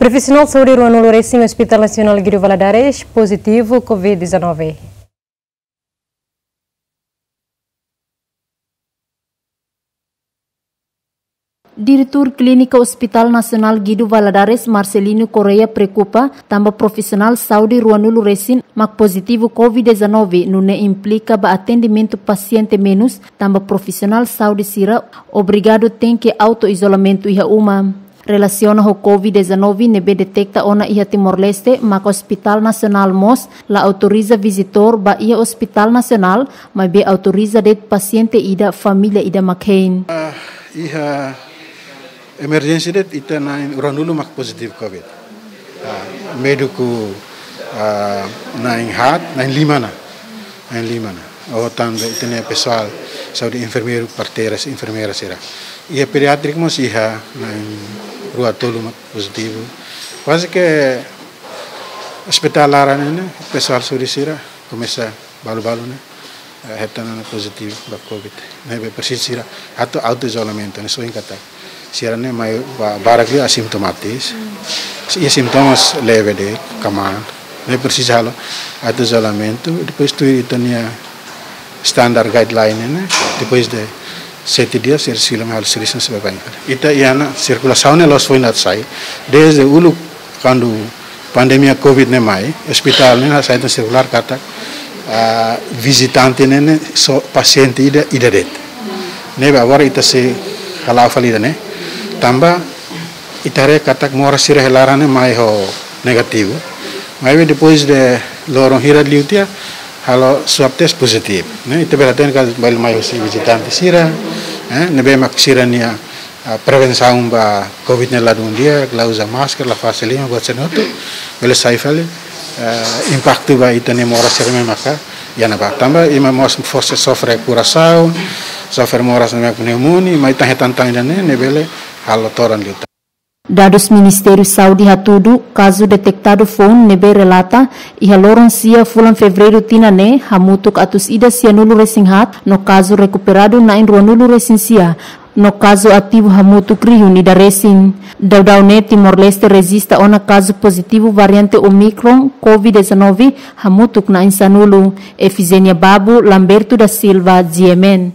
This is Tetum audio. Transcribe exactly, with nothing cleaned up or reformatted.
Profesionál saúde ruanulu resin Hospital Nasionál Guido Valadares pozitivu covid dezanove. Diretór Klínika Hospital Nasionál Guido Valadares, Marcelino Correia, preokupa tanba profisionál saúde ruanulu resin mak pozitivu covid dezanove, nune'e implika ba atendimentu pasiente menus, tanba profisionál saúde sira obrigadu tenke auto-izolamentu iha uma. Relasiona ho covid dezanove ne'ebé deteta ona iha Timor-Leste, maka Hospital Nasionál mós la autoriza vizitór ba iha Hospital Nasionál, maibé autoriza de'it pasiente ida, família ida mak hein. Ah, iha emerjénsia de'it ita na'in ruanulu mak pozitivu covid. Ah, médiku, ah, na'in haat, na'in lima ona. Na'in lima ona. Ho tanba ita-nia pesoál saúde, enfermeiru, parteiras, enfermeira sira. Iha pediátriku mós iha na'in rua tolu mak pozitivu. Kuaze ke ospitál laran ne'e, pesoál saúde sira komesa balu-balu ne'e, eh, hetan ona pozitivu ba covid. Ne'ebé presiza sira atu auto-izolamentu, ne'e soin katak sira ne'e mai ba, barak liu asintomátikus. Iha sintomas leve de'it, kmaan. Ne'e presiza halo auto-izolamentu, depois tuir ita-nia standard guideline ne'e, depois de sete dias, sira sei halo servisu ne'ebé bain. Ita iha ona sirkulasaun ne'e loos foin atu sai. Desde uluk kuandu pandemia covid ne'e mai, ospitál ne'e hasai tan sirkulár katak, ah, vizitante ne'e, ne'e só pasiente ida, ida de'it. Ne'ebé agora ita sei hala'o fali ida-ne'e. Tanba ita haree katak moras sira iha laran ne'e mai ho negativu. Maibé depois de loron hira liu tiha halo swab test pozitivu. Ne'e, ita bele hatene katak balu mai husi vizitante sira, eh, ne'ebé mak sira-nia, ah, prevensaun ba covid ne'e ladún di'ak, la uza máskara, la fase liman, buat sira-ne'e hotu bele sai fali, eh, impaktu ba ita-nia moras sira ne'ebé maka iha ne'ebá. Tanba ema mós fó sofre korasaun, sofre moras ne'ebé pneumonia, mai tan hetan tan ida-ne'e, ne'e bele halo todan liután. Dadus Ministériu Saúde hatudu, kazu detetadu foun ne'ebé relata iha loron sia fulan Fevereiru tinan ne'e hamutuk atus ida sianulu resin haat, no kazu rekuperadu na'in ruanulu resin sia, no kazu ativu hamutuk rihun ida resin. Daudaun ne'e Timor-Leste rejista ona kazu pozitivu variante Omicron covid dezanove hamutuk na'in sanulu. Efigénia Babu, Lamberto da Silva, G M N.